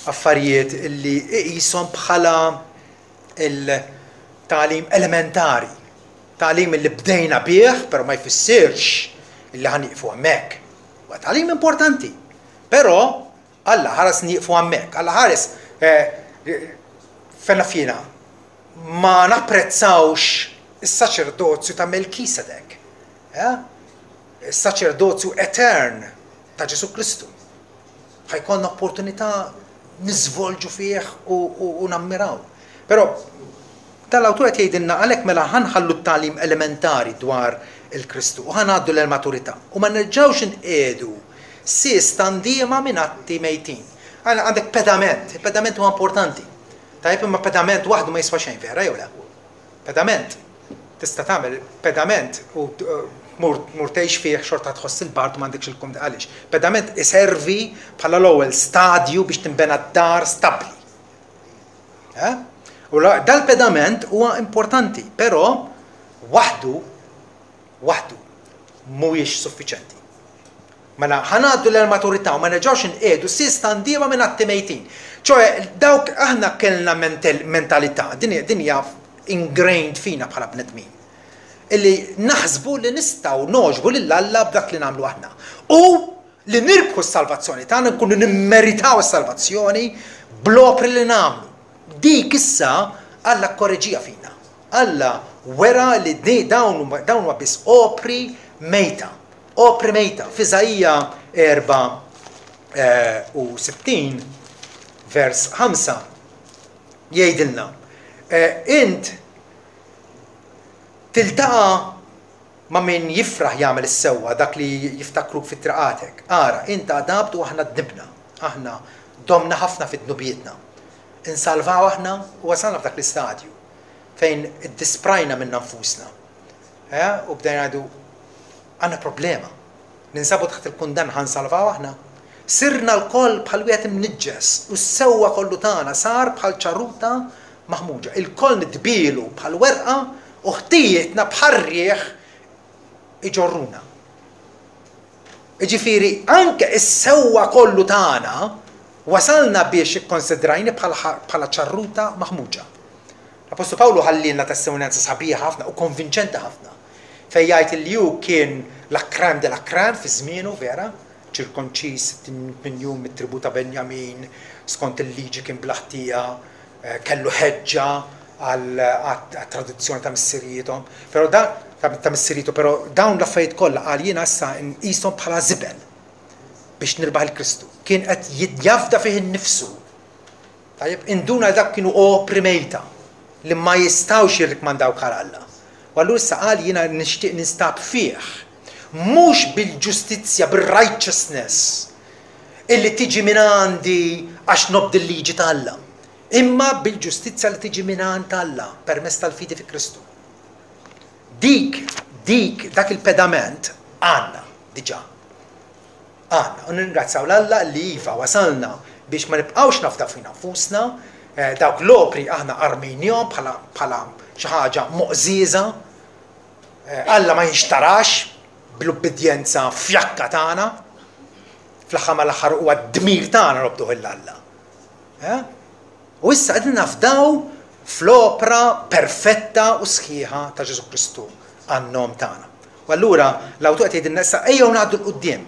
affarijiet li iqishom bħala il-tagħlim elementari, tagħlim li bdejna bih, però ma jfissirx li ħa nieqfu hemmhekk. Huwa tagħlim importanti, però Alla ħares nieqfu hemmhekk, Alla ħares fejn naf jiena ma napprezzawx is-saċerdozju ta' Melkisedek, eh? Is-saċerdozju etern ta' Ġesù Kristu. Ħa jkollna opportunità niżvolġu fih u, u, u nammiraw. Però dan l-awtur qed jgħidilna għalhekk mela ħa nħallu t-tagħlim elementari dwar il-Kristu u ħa ngħaddu l-maturità u ma nerġgħux inqiegħdu sies ta' ndiema minn atti mejtin. Għandek pedament, il-pedament huwa importanti. Tajjeb imma pedament waħdu ma jiswa xejn vera jew le? Pedament. Tista' tagħmel pedament u tmur tmur tgħix fih xorta tħoss il-bard u m'għandekx il-kumdità. Għaliex? Pedament iservi bħala l-ewwel stadju biex tinbena d-dar stabbli. Eh? U dal-pedament huwa importanti, però waħdu waħdu mhuwiex suffiċenti. Mela ħa ngħaddu lejn maturità u ma nerġgħux inqiegħdu sies ta' ndiema minn atti mejtin. Ċoe dawk aħna kellna mentalità, din hija ingrained fina bħala bnedmin. Illi naħsbu li nistgħu nogħġbu lil Alla b'dak li nagħmlu aħna. U li nirbħu s-salvazzjoni tagħna, nkunu nimmeritaw is-salvazzjoni bl-opri li nagħmlu. Dik issa Alla kkoreġiha fina. Alla wera li dawn huma biss opri mejta. Opri mejta. F'Iżaija 64 vers 5 jgħidilna, Int tiltaqa' ma' min jifraħ jagħmel is-sewwa, dak li jiftakruk fi triqatek. Ara, int għadabt u aħna dnibna. Aħna domna ħafna fi dnubietna. Insalvaw aħna u wasalna f'dak l-istadju fejn iddisprajna minna nfusna. Eh? U bdejna ngħidu għandna problema. Ninsabu taħt il-kundanna ħa nsalvaw aħna. Sirna lkoll bħal wieħed imniġġes u s-sewwa kollu tagħna sar bħal ċarruta maħmuġa. Ilkoll nitbielu bħal werqa u ħtijietna bħar-riħ iġorruna. Jiġifieri anke s-sewwa kollu tagħna wasalna biex ikkonsidrajni bħala ċarruta maħmuġa. L-Appostlu Pawlu ħallielna testimonjanza sabiħa ħafna u konvinċenti ħafna fejn jgħid li hu kien la crème de la crème fi żmienu vera, ċirkonċiż 68 jum mit-tribù ta' Benjamin, skont il-liġi kien bla ħtija, kellu ħeġġa għat-tradizzjoni ta' missirijiethom, però da, ta' missirietu, però dawn l-affarijiet kollha qal jiena issa nqishom bħala żibel biex nirbaħ 'il Kristu. Kien qed jafda fih innifsu. Tajjeb, induna li dak kienu opri mejta li ma jistgħux jirrikmandawk għal Alla. U allura issa qal jiena nixtieq ninstab fih. Mhux bil-ġustizzja, bir-righteousness illi tiġi minn għandi għax nobdi l-liġi ta' Alla, imma bil-ġustizzja li tiġi minn għand Alla permezz tal-fidi fi Kristu. Dik, dik, dak il-pedament għandna diġà. Għandna, u nirringrazzjaw 'l Alla li iva wasalna biex ma nibqgħux nafdaw fina nfusna, dawk l-opri aħna armejniehom bħala bħala xi ħaġa moqżieża. Alla ma jinxtarax bl-ubbidjenza fjakka tagħna. Fl-aħħar mal-aħħar huwa d-dmir tagħna nobduh 'il Alla. U issa qegħdin nafdaw fl-opra perfetta u sħiħa ta' Ġesù Kristu għan-nom tagħna. U allura l-awtur qed jgħidilna issa ejjew ngħaddu 'l quddiem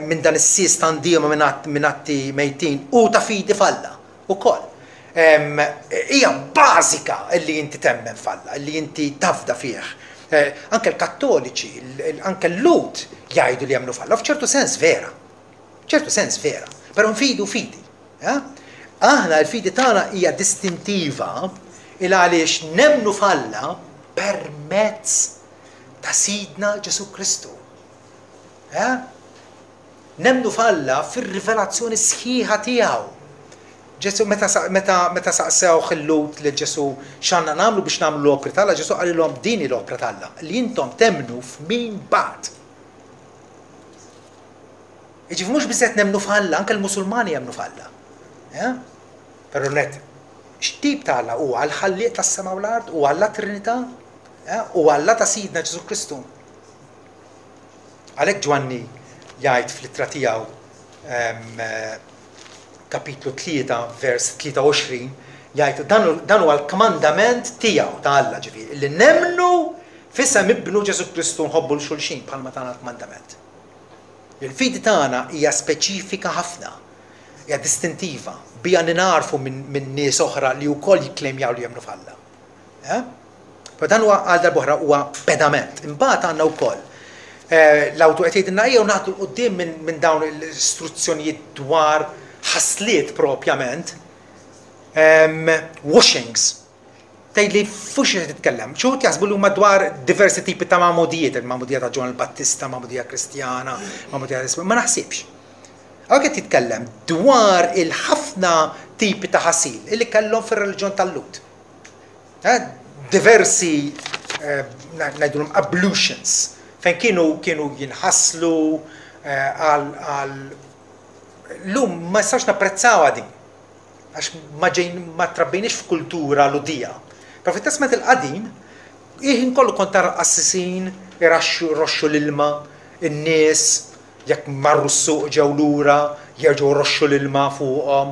minn dan is-sies ta' ndiema minn atti mejtin u ta' fidi f'Alla wkoll. Hija bażika li inti temmen f'Alla, li inti tafda fih. Anke l-Kattoliċi, anke l-Lhud jgħidu li jemmnu f'Alla, u f'ċertu sens vera. F'ċertu sens vera. Però nfidu fidi. Aħna l-fidi tagħna hija distintiva il għaliex nemmnu f'Alla permezz ta' Sidna Ġesù Kristu. Nemmnu f'Alla fir-rivelazzjoni sħiħa tiegħu. Ġesù meta meta meta saqsewh il-Lhud lil Ġesù x'għandna nagħmlu biex nagħmlu l-opri t'Alla, Ġesù qalilhom din hi l-opra t'Alla, li intom temmnu f'min bagħat. Jiġifieri mhux biżżejjed nemmnu f'Alla, anke l-Musulmani jemmnu f'Alla. Eh? Però net, x'tip ta' Alla huwa l-ħallieq tas-sema u l-art, u Alla Trinità, eh? u Alla ta' Sidna Ġesù Kristu. Għalhekk Ġwanni jgħid fl-ittra tiegħu ehm, kapitlu 3 vers 23 jgħid dan huwa l-kmandament tiegħu ta' Alla ġifieri li nemmnu f'isem ibnu Ġesù Kristu nħobbu l xulxin bħalma tana l-kmandament. Il-fidi tagħna hija speċifika ħafna, hija distintiva, biha ningħarfu minn nies oħra li wkoll jikklejmjaw li jemmnu f'Alla. Eh? Però dan huwa għal darb'oħra huwa pedament. Imbagħad għandna wkoll eh, l-awtur qed jgħidilna ejjew naħdu 'l quddiem minn dawn l-istruzzjonijiet dwar ħasliet propjament, ehm, washings. Tgħidli fuq xi qed titkellem. Xi wħud jaħsbu li huma dwar diversi tipi ta' magħmudijiet, il-magħmudija ta' Ġwanni l-Battista, magħmudija Kristjana, magħmudija ta' Ma naħsibx. Hawnhekk qed jitkellem dwar il-ħafna tipi ta' ħasil illi kellhom fir-reliġjon tal-Lhud. Eh, diversi eh, ngħidulhom ablutions fejn kienu kienu jinħaslu eh, għal lum ma nistax napprezzawha din. Għax ma ġejn ma trabbejniex f'kultura Lhudija. Però fit-Testment il-Qadim, il-ħin kollu kont tara l-qassisin iraxxu jroxxu l-ilma, in-nies Jekk marru s-suq ġew lura, jerġgħu jroxxu l-ilma fuqhom.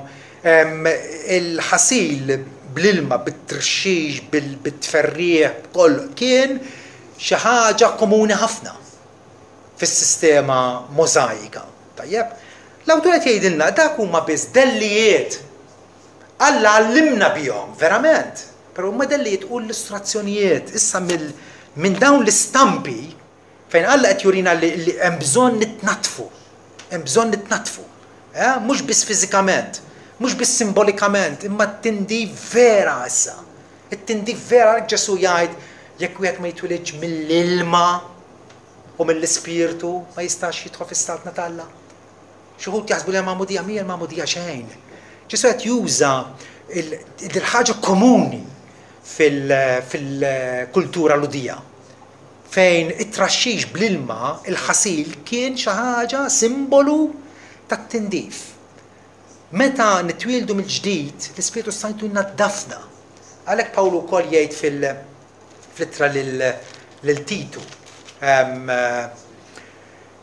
Il-ħasil bl-ilma, bit-trxix, bit-tferrigħ, b'kollox, kien xi ħaġa komuni ħafna fis-sistema Możajika. Tajjeb? L-awtur qed jgħidilna dak huma biss dellijiet. Alla għallimna bihom, verament, però huma dellijiet u illustrazzjonijiet. Issa minn dawn l-istampi Fejn Alla qed jurina li hemm bżonn nitnaddfu. Hemm bżonn nitnaddfu. Eh? Mhux biss fiżikament, mhux biss simbolikament, imma t-tindif vera issa. It-tindif vera għalhekk Ġesù jgħid jekk wieħed ma jitwilidx mill-ilma u mill-ispirtu ma jistax jidħol fis-saltna t'Alla. Xi wħud jaħsbu li l-magħmudija mhija l-magħmudija xejn. Ġesù qed juża il-ħaġa komuni fil-kultura Lhudija. fejn it-traxxix bl-ilma, il-ħasil, kien xi ħaġa simbolu tat-tindif. Meta nitwieldu mill-ġdid, l-Ispirtu s-Santu jnaddafna. Għalhekk Pawlu wkoll jgħid fil-ittra lil Titu,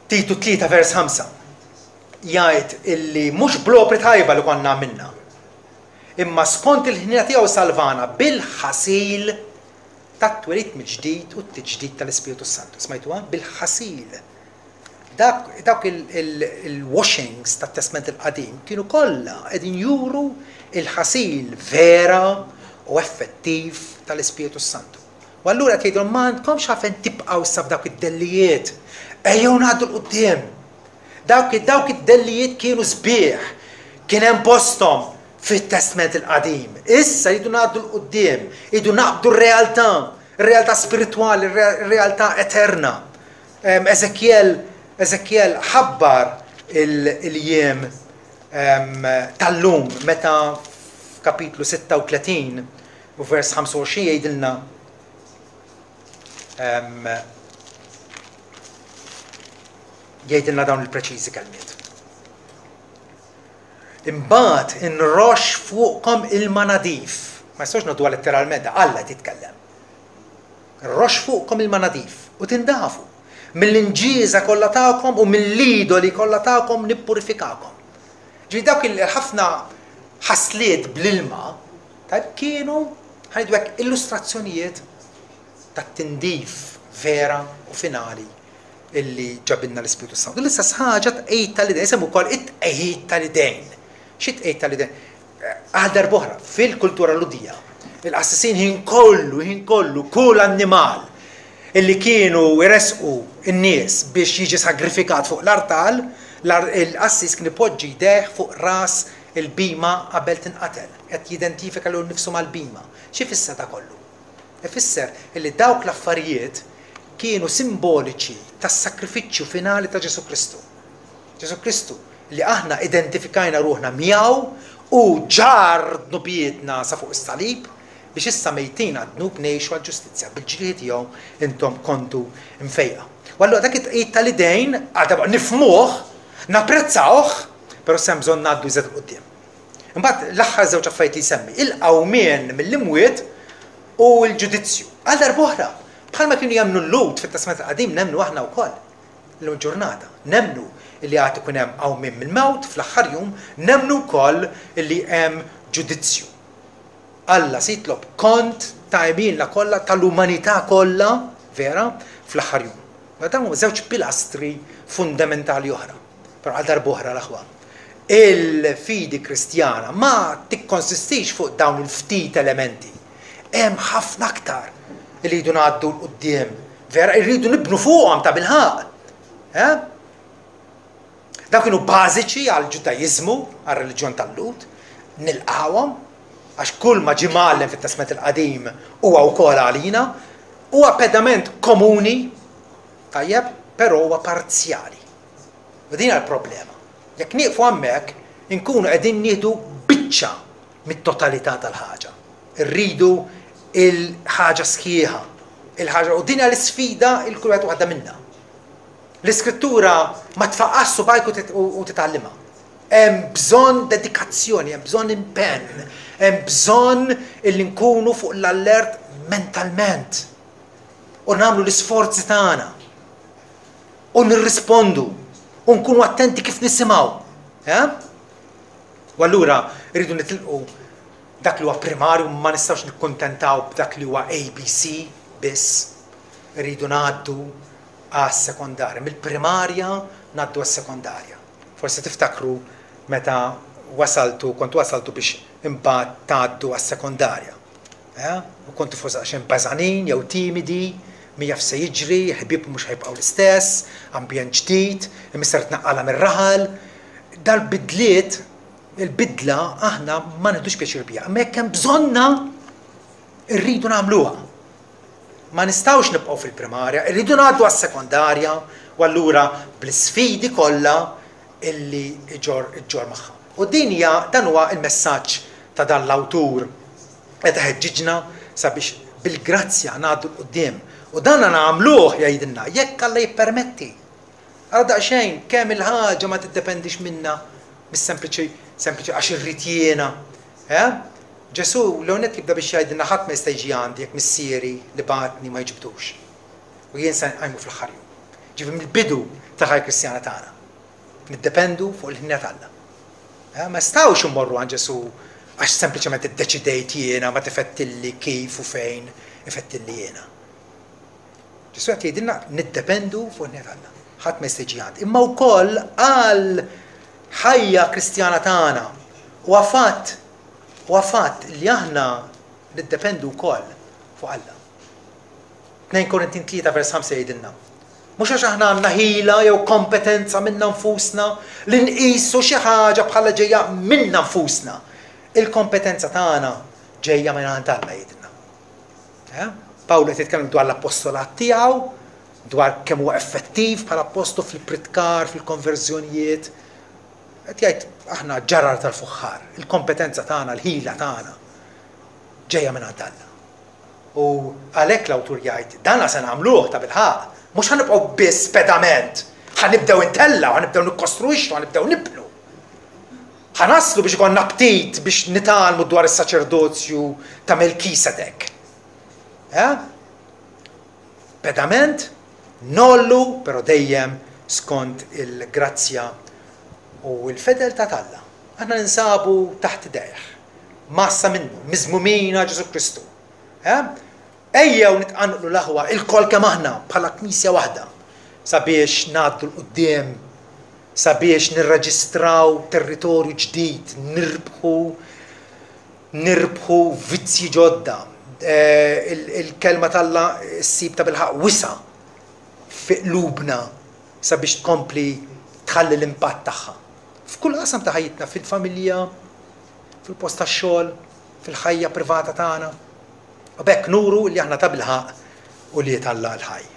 Titu 3 vers 5, jgħid illi mhux bl-opri tajba li konna għamilna, imma skont il-ħniena tiegħu salvana bil-ħasil tat-twelid mill-ġdid u t-tiġdid tal-Ispirtu s-Santu. Smajtuha? Bil-ħasil. Dak, dawk il-washings tat-Testment il-Qadim kienu kollha qegħdin juru il-ħasil vera u effettiv tal-Ispirtu s-Santu. U allura qed jgħidulhom ma għandkomx għalfejn tibqgħu issa f'dawk id-dellijiet. Ejjew ngħaddu 'l quddiem. Dawk dawk id-dellijiet kienu sbieħ, kien hemm posthom, fit-Testment il-Qadim. Issa rridu ngħaddu 'l quddiem, irridu naqbdu r-realtà, ir-realtà spiritwali, ir-realtà eterna. Eżekjel Eżekjel ħabbar il-jiem tal-lum meta f'kapitlu 36 u vers 25 jgħidilna jgħidilna dawn il-preċiżi kelmiet. Imbagħad inroxx fuqkom ilma nadif. Ma nistgħux noħduha letteralment, Alla qed jitkellem. Nroxx fuqkom ilma nadif u tindafu. Mill-inġieża kollha tagħkom u mill-idoli kollha tagħkom nippurifikakom. Ġifieri dawk il-ħafna ħasliet bl-ilma, tajb kienu ħa ngħidu hekk illustrazzjonijiet tat-tindif vera u finali illi ġabilna l-Ispirtu s-Santu. L-istess ħaġa tqegħid tal-idejn, isemmu wkoll it-tqegħid tal-idejn. Xi tqegħid tal-idejn? Għal darb'oħra, fil-kultura Lhudija, il-qassisin ħin kollu, ħin kollu, kull annimal illi kienu jressqu n-nies biex jiġi sagrifikat fuq l-artal, il-qassis kien ipoġġi jdejh fuq ras il-bhima qabel tinqatel, qed jidentifika lilu nnifsu mal-bhima. X'ifisser da kollu? Ifisser illi dawk l-affarijiet kienu simboliċi tas-sagrifiċċju finali ta' Ġesù Kristu. Ġesù Kristu, li aħna identifikajna ruħna miegħu, hu ġarr dnubietna sa fuq is-salib biex issa mejtin għad-dnub ngħixu għall-ġustizzja, bil-ġrieħi tiegħu intom kontu mfejqa. U allura dak it-tqegħid tal-idejn għadha nifhmuh, napprezzawh, però issa hemm bżonn ngħaddu iżjed 'il quddiem. Imbagħad l-aħħar żewġ affarijiet li jsemmi, il-qawmien mill-imwiet u l-ġudizzju. Għal darb'oħra, bħalma kienu jemmnu l-Lhud fit-Testament il-Qadim nemmnu aħna wkoll illum il-ġurnata. Nemmnu li għad ikun hemm qawmien mill-mewt fl-aħħar jum, nemmnu wkoll li hemm ġudizzju. Alla se jitlob kont ta' għemilna kollha, tal-umanità kollha, vera, fl-aħħar jum. Ma dawn huma żewġ pilastri fundamentali oħra. Però għal darb'oħra l-aħwa, il-fidi Kristjana ma tikkonsistix fuq dawn il-ftit elementi. Hemm ħafna aktar li rridu ngħaddu 'l quddiem. Vera, irridu nibnu fuqhom tabilħaqq. Eh? Dawn kienu bażiċi għall-Ġudaiżmu, għar-reliġjon tal-Lhud, nilqawhom għax kull ma ġie mgħallem fit-Testment il-Qadim huwa wkoll għalina, huwa pedament komuni, tajjeb, però huwa parzjali. U din hija l-problema. Jekk nieqfu hemmhekk, inkunu qegħdin nieħdu biċċa mit-totalità tal-ħaġa. Irridu il-ħaġa sħiħa. Il-ħaġa u din hija l-isfida il kull wieħed waħda minna. L-iskrittura ma tfaqqax subajk u titgħallimha. Hemm bżonn dedikazzjoni, hemm bżonn impenn, hemm bżonn illi nkunu fuq l-allert mentalment u nagħmlu l-isforzi tagħna. U nirrispondu. U nkunu attenti kif nisimgħu. Eh? U allura rridu nitilqu dak li huwa primarju ma nistgħux nikkuntentaw b'dak li huwa ABC biss. Rridu ngħaddu għas-sekondarja. Mill-primarja ngħaddu għas-sekondarja. Forsi tiftakru meta wasaltu, kontu wasaltu biex imbagħad tgħaddu għas-sekondarja. Eh? U kontu forsi daqsxejn bażanin jew timidi, min jaf se jiġri, ħbieb mhux ħajbqgħu l-istess, ambjent ġdid, imissa tnaqqala mir-raħal. Dal-bidliet, il-bidla aħna ma nieħdux pjaċir biha, imma jekk hemm bżonna rridu nagħmluha. Ma nistgħux nibqgħu fil-primarja, irridu ngħaddu għas-sekondarja u allura bl-isfidi kollha illi iġorr iġġorr magħha. U din hija dan huwa l-messaġġ ta' dan l-awtur qed iħeġġiġna sabiex bil-grazzja ngħaddu 'l quddiem. U dan nagħmluh jgħidilna jekk Alla jippermetti. Ara daqsxejn kemm il-ħaġa ma tiddependix minna mis-sempliċi sempliċi għax irrid jiena. Eh? Ġesù l-ewwel nett jibda biex jgħidilna ħadd ma jista' jiġi għandi jekk Missieri li bagħatni ma jiġbdux. U jien se nqajmu fl-aħħar jum. Ġifieri mill-bidu tal-ħajja Kristjana tagħna. Niddependu fuq il-ħniena t'Alla. Eh, ma nistgħux immorru għand Ġesù għax sempliċement iddeċidejt jiena ma tifettilli kif u fejn ifettilli jiena. Ġesù qed jgħidilna niddependu fuq il-ħniena t'Alla. Ħadd ma jista' jiġi għandi. Imma wkoll għal ħajja Kristjana tagħna huwa fatt huwa fatt li aħna niddependu wkoll fuq Alla. 2 Korintin 3 vers 5 jgħidilna. Mhux għax aħna għandna ħila jew kompetenza minna nfusna li nqisu xi ħaġa bħala ġejja minna nfusna. Il-kompetenza tagħna ġejja minn għand Alla jgħidilna. Eh? Pawlu qed jitkellem dwar l-appostolat tiegħu, dwar kemm huwa effettiv bħala appostlu fil-pritkar, fil-konverżjonijiet. Qed jgħid aħna ġarar tal-fuħħar, il-kompetenza tagħna, l-ħila tagħna ġejja minn għand Alla. U għalhekk l-awtur jgħid, dana se nagħmluh tabilħaqq, mhux ħa nibqgħu biss pedament, ħa nibdew intellgħu, ħa nibdew nikkostruixxu, ħa nibdew nibnu. Ħa naslu biex ikollna aptit biex nitgħallmu dwar is-saċerdozju ta' Melkisedek. Eh? Pedament, nollu, però dejjem skont il-grazzja u l-fedeltà t'Alla. Aħna ninsabu taħt idejh. Massa minnu, miżmumin għal Ġesù Kristu. Eh? Ejjew nitqanqlu l-aħwa ilkoll kemm aħna bħala knisja waħda sabiex ngħaddu 'l quddiem, sabiex nirreġistraw territorju ġdid, nirbħu nirbħu vizzji ġodda. Eh, il-kelma t'Alla ssib ta' bilħaq wisa' fi qlubna sabiex tkompli tħalli l-impatt tagħha. F'kull qasam ta' ħajjitna, fil-familja, fil-post tax-xogħol, fil-ħajja privata tagħna. U b'hekk nuru li aħna tabilħaqq ulied Alla l-ħaj.